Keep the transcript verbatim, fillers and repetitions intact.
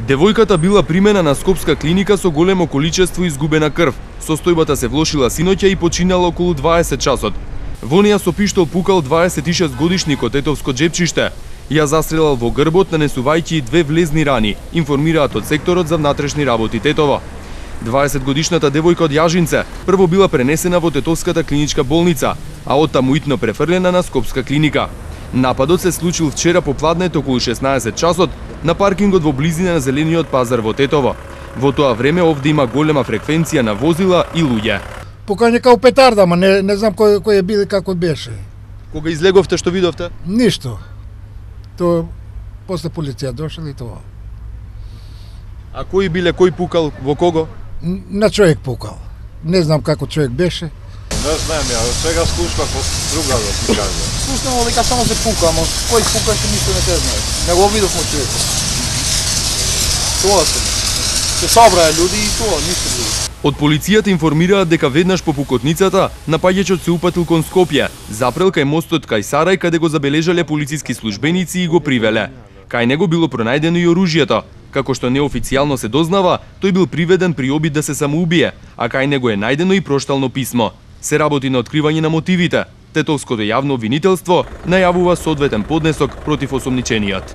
Девојката била примена на скопска клиника со големо количество изгубена крв. Состојбата се влошила синоќа и починала околу дваесет часот. Во неја со пиштол пукал дваесет и шест годишникот Тетовско Џепчиште. Ја застрелал во грбот, нанесувајќи две влезни рани, информираат од секторот за внатрешни работи Тетово. дваесетгодишната девојка од Јажинце прво била пренесена во Тетовската клиничка болница, а оттаму итно префрлена на Скопска клиника. Нападот се случил вчера попладнет околу шеснаесет часот на паркингот во близина на Зелениот пазар во Тетово. Во тоа време овде има голема фреквенција на возила и луѓе. Покање као петарда, ама не, не знам кој, кој е бил и како беше. Кога излеговте, што видовте? Ништо. То после полиција дошла и тоа. А кои биле, кој пукал, во кого? На човек пукал. Не знам како човек беше. Не знам ја, сега слушнав од друга да ти кажа. Слушнав дека само се пука, ама кој пукаше ништо не те знае. Не го видовме човекот. Тоа се. Се собраа луѓе и тоа, ништо друго. Од полицијата информираат дека веднаш по пукотницата напаѓачот се упатил кон Скопје, запрел кај мостот кај Сарај, каде го забележале полициски службеници и го привеле. Кај него било пронајдено и оружјето. Како што неофицијално се дознава, тој бил приведен при обид да се самоубие, а кај него е најдено и проштално писмо. Се работи на откривање на мотивите. Тетовското јавно обвинителство најавува соодветен поднесок против осомничениот.